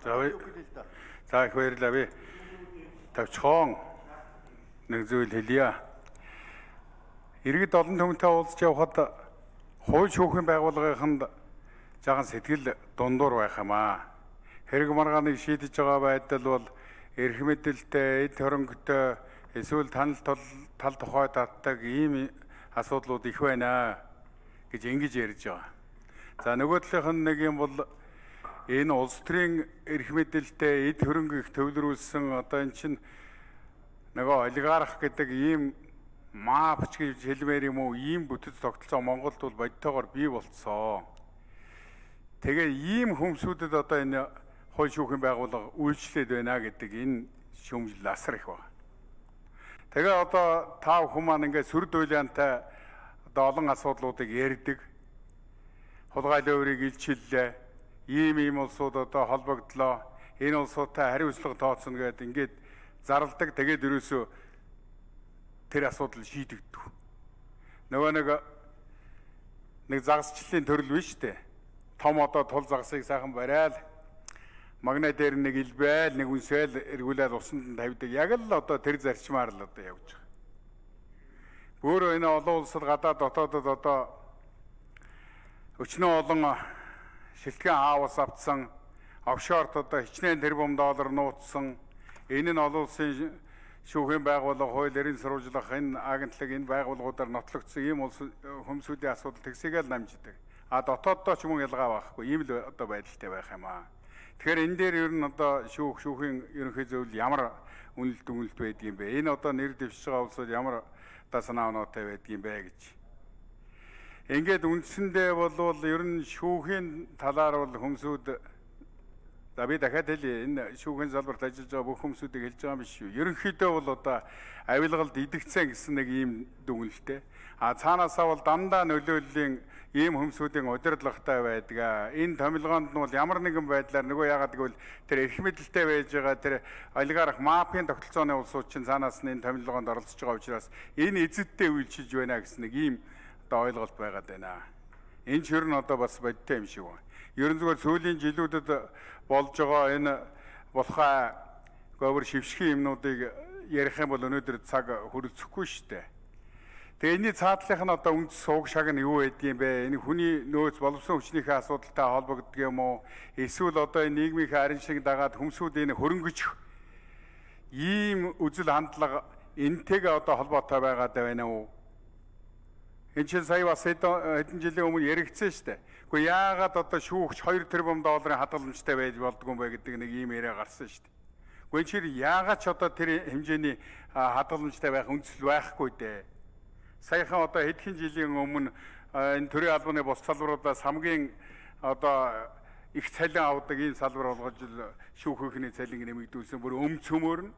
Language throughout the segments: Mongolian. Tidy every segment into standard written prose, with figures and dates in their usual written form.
За их баярлалаа би. Тавчхон нэг зүйл хэлье. Иргэд олон түмэнтэй уулзч явхад хууль шүүхийн байгууллагынд жаахан сэтгэл дундуур байх юм аа. Хэрэг маргааныг шийдэж байгаа байдал бол эрх мэдэлтэй, эд хөрөнгөтэй эсвэл тал тухай татдаг ийм асуудлууд их байна гэж ингэж ярьж байгаа. За нөгөө талынх нь нэг юм бол энэ улс төрийн эрх мэдэлтэй эд хөрөнгө их төвлөрүүлсэн одоо эн чинь нөгөө олигарх гэдэг ийм маапч гэж хэлмээр юм уу ийм бүтэц тогтолцоо Монголд бол бодтойгоор бий болцсон. Тэгээ ийм хүмүүсүүдэд одоо энэ хууль шүүхийн байгууллага үйлчлээд байна гэдэг энэ шүүмжил асар их байна. Тэгээ одоо тав хүмүүс маань ингээд сүр дуйлаантай одоо олон асуудлуудыг ярьдаг. Хулгайлын өөрийг илчиллээ. Ийм улсууд одоо холбогдлоо. Энэ улсуудтай хариуцлага тооцно гэдэг ингээд зарладаг. Тэгээд ерөөсөө тэр асуудал шийдэгддэг. Нөгөө нэг загасчлалын төрөл биш үү? Том одоо тул загасыг сайхан барайл. Магна дээр нэг илбээл, нэг үнсээл эргүүлээд усанд тавьдаг. Яг л одоо тэр зарчмаар л одоо явж байгаа. Өөрөө энэ олон улсад гадаад дотоодод одоо өчнөө олон шилтгэн хаавс автсан, офшорт одоо хичнээн тэрбум доллар нууцсан. Энэ нь олон улсын шүүхийн байгууллага, хууль эрийн сурвалжлах энэ агентлаг энэ байгууллагуудаар нотлогдсон ийм улс хүмүүсүүдийн асуудал тэгсээгээл намждаг. А дотооддоо ч юм ялгаа байхгүй. Ийм л одоо байдалтай байх юм аа. Тэгэхээр энэ дээр ер нь одоо шүүхийн ерөнхий зөвлөл ямар үнэлт байдгийм бэ? Энэ одоо нэр дэвшиж байгаа улсууд ямар одоо санаа оноотой байдгийм бэ гэж. Ингээд үндсэндээ бол ер нь шүүхийн талаар бол хүмүүсүүд за би дахиад хэлье. Энэ шүүхийн салбарт ажиллаж байгаа бүх хүмүүсүүдийг хэлж байгаа юм биш үү? Ерөнхийдөө бол одоо авилгалд идэгцэн гэсэн нэг ийм дүгнэлттэй. А цаанаасаа бол дандаа нөлөөллийн ийм хүмүүсүүдийн удирдлагатай байдаг. Энэ томилгоонд нь бол ямар нэгэн байдлаар нөгөө яагаад гэвэл тэр эрх мэдэлтэй байж байгаа тэр олигарх мафийн тогтолцооны улсууд чинь цаанаас нь энэ томилгоонд оролцож байгаа учраас энэ эзэдтэй үйлчилж байна гэсэн нэг ийм одоо ойлголт байгаад байна. Энэ ч ер нь одоо бас бодтой юм шиг байна. Ерөн зүгээр сүүлийн жилүүдэд болж байгаа энэ болохоо говөр шившгийн юмнуудыг ярих юм бол өнөөдөр цаг хүрэлцэхгүй шүү дээ. Тэгээ энэний цаатлах нь одоо үндэс сууг шаг нь юу байдгийм бэ? Энэ хүний нөөц боловсон хүчнийхээ асуудалтай холбогддог юм уу? Эсвэл одоо энэ нийгмийнхээ арин шиг дагаад хүмүүсүүд энэ хөрөнгөж ийм үзэл хандлага энтэйгээ одоо холбоотой байгаад байна уу? Энэ чинь сая бас хэдэн жилийн өмнө яригдсан шүү дээ. Гэхдээ яагаад одоо шүүгч 2 тэрбум долларын хадгаламжтай байж болдгоо юм бэ гэдэг нэг ийм яриа гарсан шүү дээ. Гэхдээ энэ чинь яагаад ч одоо тэр хэмжээний хадгаламжтай байх үндэслэл байхгүй дээ. Саяхан одоо хэдхэн жилийн өмнө энэ төрийн албаны бус салбаруудаас хамгийн одоо их цалин авдаг ийм салбар болгож шүүхийнхний цалин нэмэгдүүлсэн бүр цөмөр нь.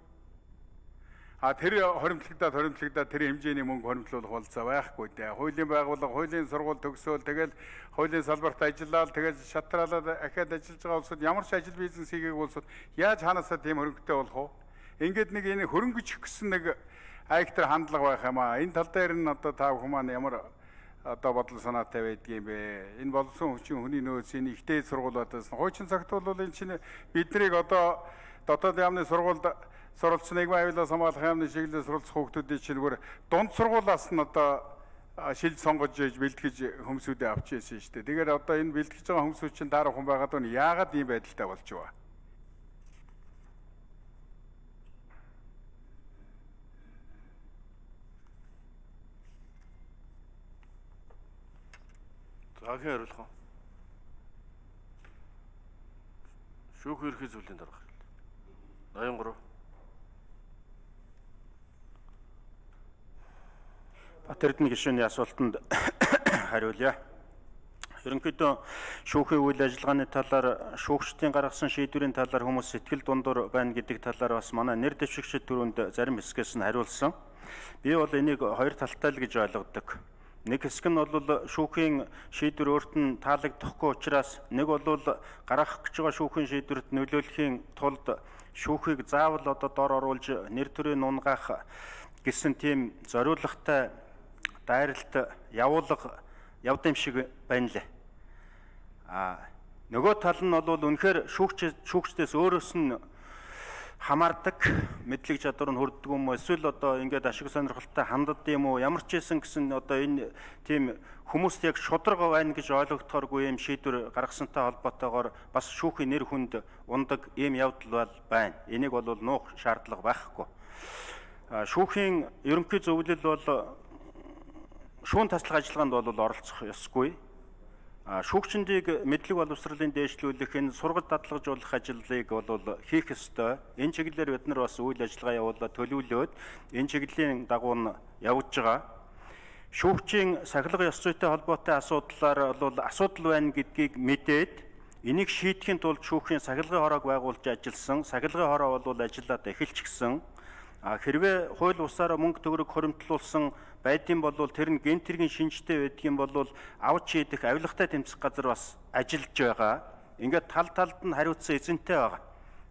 А тэр хоримтлагдаад тэр хэмжээний мөнгө хоримтлуулах болцоо байхгүй дээ. Хуулийн байгууллага, хуулийн сургууль төгсөөл тэгэл хуулийн салбарт ажиллаад тэгэл шатраалаад ахаад ажиллаж байгаа улсууд ямар ч ажил бизнес хийгээг улсууд яаж ханаасаа тийм хөрөнгөтэй болох вэ? Ингээд нэг энэ хөрөнгөж гэсэн нэг айхтар хандлага байх юм аа. Энэ тал дээр нь одоо та бүхэн маань ямар одоо бодол санаатай байдгийм бэ? Энэ болсон хүчин хүний нөөц энэ ихтэй сургуулиудаас хуучин цагт бол энэ чинь биднийг одоо дотоод яамны сургуульд суралцсан нийгмийн аюулаас хамгаалах яамны чиглэлээр суралцах хүүхдүүдийн чинь зүгээр дунд сургуулиас нь одоо шилж сонгож ээж бэлтгэж хүмүүсүүдээ авч ирсэн шүү дээ. Тэгэхээр одоо энэ бэлтгэж байгаа хүмүүсүүд чинь дараа хүн байгаад байна. Яагаад ийм байдалтай болж байгаа? Заахын хариулах уу? Шүүх ерхий зүйлийн дарга. 83. Батэрдэн гишүүний асуултанд хариулъя. Ерөнхийдөө шүүхийн үйл ажиллагааны талаар шүүгчдийн гаргасан шийдвэрийн талаар хүмүүс сэтгэл дундуур байна гэдэг талаар бас манай нэр дэвшигчид түрүүнд зарим хэсгээс нь хариулсан. Би бол энийг хоёр талтай л гэж ойлгодог. Нэг хэсэг нь бол шүүхийн шийдвэр өөрт нь таалагдахгүй учраас нэг бол гаргах гэж байгаа шүүхийн шийдвэрт нөлөөлөхийн тулд шүүхийг заавал одоо дор оруулж нэр төрийн унгаах гэсэн тийм зориулгатай дайралт явуулга явд юм шиг байна лээ. Нөгөө тал нь бол үнэхээр шүүгчдээс өөрөөс нь хамаардаг мэдлэг чадвар нь хүрдэг юм уу эсвэл одоо ингээд ашиг сонирхолтой ханддаг юм уу ямар ч байсан гэсэн одоо энэ тийм хүмүүст яг шударга байна гэж ойлгогдохооргүй юм шийдвэр гаргасантай холбоотойгоор бас шүүхийн нэр хүнд ундаг ийм явдал байна. Энийг бол нуух шаардлага байхгүй. Шүүхийн ерөнхий зөвлөл бол шүүн таслах ажиллагаанд бол оролцох ёсгүй. Шүүгчдийг мэдлэг боловсролын дээшлүүлэх энэ сургалт дадлагжуулах ажлыг бол хийх ёстой. Энэ чиглэлээр бид нар бас үйл ажиллагаа явуулаад төлөвлөөд энэ чиглэлийн дагуу нь явж байгаа. Шүүгчийн сахилга ёс зүйтэй холбоотой асуудлаар бол асуудал байна гэдгийг мэдээд энийг шийдэхин тулд шүүхийн сахилгын хороог байгуулж ажилласан. Сахилгын хороо бол ажиллаад эхэлчихсэн. Хэрвээ хууль бусаараа мөнгө төгрөг хоримтлуулсан байдсан бол тэр нь гент хэргийн шинжтэй байдгийн бол авч шийдэх авилгатай тэмцэх газар бас ажиллаж байгаа. Ингээд талд нь хариуцсан эзэнтэй байгаа.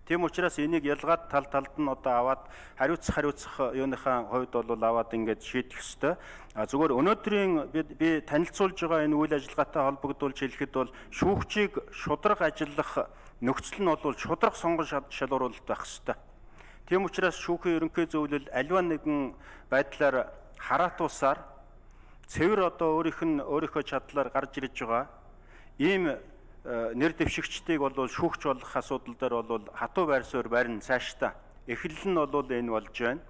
Тийм учраас энийг ялгаад талд нь одоо аваад хариуцах юуныхаа хувьд бол аваад ингээд шийдэх ёстой. Зүгээр өнөөдрийн би танилцуулж байгаа энэ үйл ажиллагаатай холбогдуулж хэлэхэд бол шүүгчийг шударга ажиллах нөхцөл нь бол шударга сонгон шалгуулалт байх ёстой. Тийм учраас шүүхийн ерөнхий зөвлөл аливаа нэгэн байдлаар хараатуусаар цэвэр одоо өөрийнхөө чадлаар гарч ирж байгаа ийм нэр дэвшигчдийг бол шүүгч болох асуудал дээр бол хатуу байр суурь барин цаашдаа эхлэл нь бол энэ болж байна.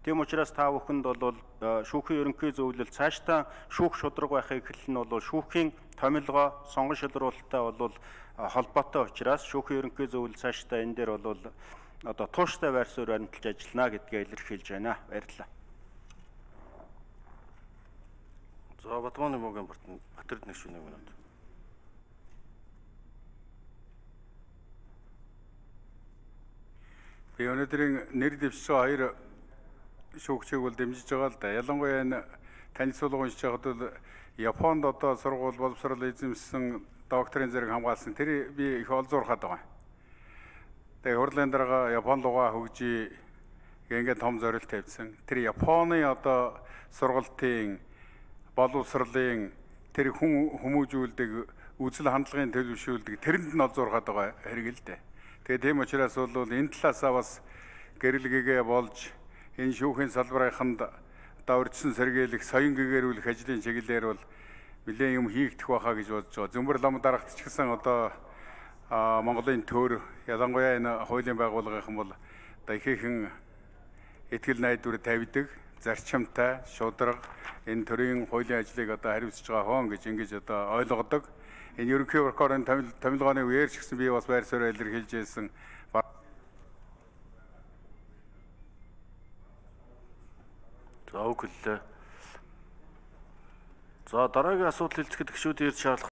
Тийм учраас та бүхэнд бол шүүхийн ерөнхий зөвлөл цаашдаа шүүх шударга байхыг эхлэл нь бол шүүхийн томилгоо сонгон шилруулалттай бол холбоотой учраас шүүхийн ерөнхий зөвлөл цаашдаа энэ дээр бол одоо тууштай байр суурь баримталж ажиллана гэдгээ илэрхийлж байна. Баярлалаа. За Батманы мөгийн Батэрд нэг шүнэг минут. Би өнөөдрийн нэр дэвшиж байгаа хоёр шүүгчийг бол дэмжиж байгаа л да. Ялангуяа энэ танилцуулга уншиж байхад бол Японд одоо сургууль боловсрол эзэмсэн докторийн зэрэг хамгаалсан тэр би их олзуурхаад байгаа. Тэгээ хурлын дарга Япон лугаа хөгжиж ингээд том зорилт тавьсан. Тэр Японы одоо сургалтын боловсролын тэр хүмүүжүүлдэг үзэл хандлагын төлөвшүүлдэг тэрэнд нь олзуурхаад байгаа хэрэг л дээ. Тэгээ тийм учраас бол энэ талаасаа бас гэрэлгээгээ болж энэ шүүхийн салбарынханд даврчсан сэргийлэх, соён гэгэрүүлэх ажлын чиглэлээр бол нэлээд юм хийгдэх байхаа гэж бодож байгаа. Зөмбөр лам дарагт ч гэсэн одоо Монголын төр ялангуяа энэ хуулийн байгууллагын бол одоо ихээхэн итгэл найдвар тавьдаг, зарчимтай, шударга энэ төрийн хуулийн ажлыг одоо хариуцж байгаа хоон гэж ингэж одоо ойлгодог. Энэ ерөнхий прокурорын томилгооны үеэр ч гэсэн би бас байр суурь илэрхийлж байсан. За үгэлээ. За дараагийн асуудал хэлцэхэд гишүүд ирж шаардлагатай